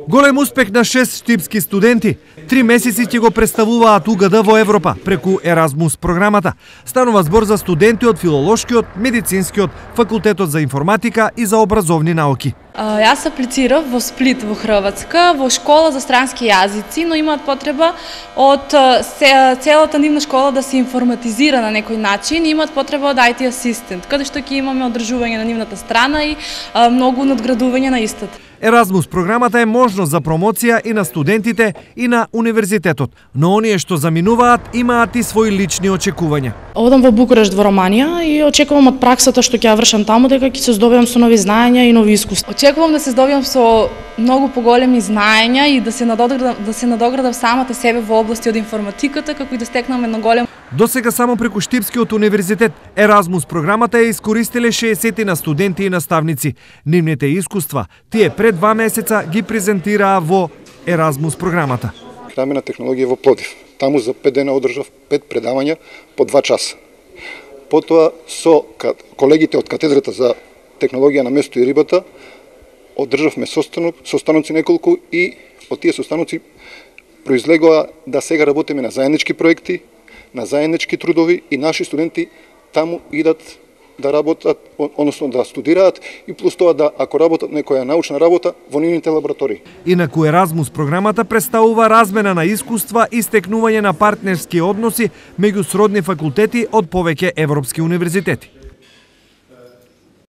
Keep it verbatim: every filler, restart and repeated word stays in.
Голем успех на шест штипски студенти. Три месеци ќе го представуваат У Г Д во Европа преку Еразмус програмата. Станува збор за студенти од филолошкиот, медицинскиот, факултетот за информатика и за образовни науки. Јас аплицирав во Сплит во Хрватска, во школа за странски јазици, но имаат потреба од целата нивна школа да се информатизира на некој начин, имаат потреба од I T асистент, каде што ќе имаме одржување на нивната страна и многу надградување на истата. Еразмус програмата е можност за промоција и на студентите и на универзитетот, но оние што заминуваат имаат и свои лични очекувања. Одам во Букурешт во Романија и очекувам од праксата што ќе ја вршам таму дека ќе се здобиам со нови знаења и нови искуства. Очекувам да се здобиам со многу поголеми знаења и да се надоградам да се надоградам самата себе во области од информатиката, како и да стекнам едно големо. Досега само преку Штипскиот универзитет Еразмус програмата е искористиле шеесет на студенти и наставници. Нивните искуства тие пред два месеца ги презентираа во Еразмус програмата. Крамена технологија во Пловдив. Таму за пет дена одржав пет предавања по два часа. Потоа со колегите од катедрата за технологија на место и рибата одржавме состанок, состаноци неколку и од тие состаноци произлегоа да сега работиме на заеднички проекти, на заеднички трудови и наши студенти таму идат да работат, односно да студираат и плюс тоа да ако работат некоја научна работа во нивните лаборатории. Инаку Еразмус програмата представува размена на искуства и стекнување на партнерски односи меѓу сродни факултети од повеќе европски универзитети.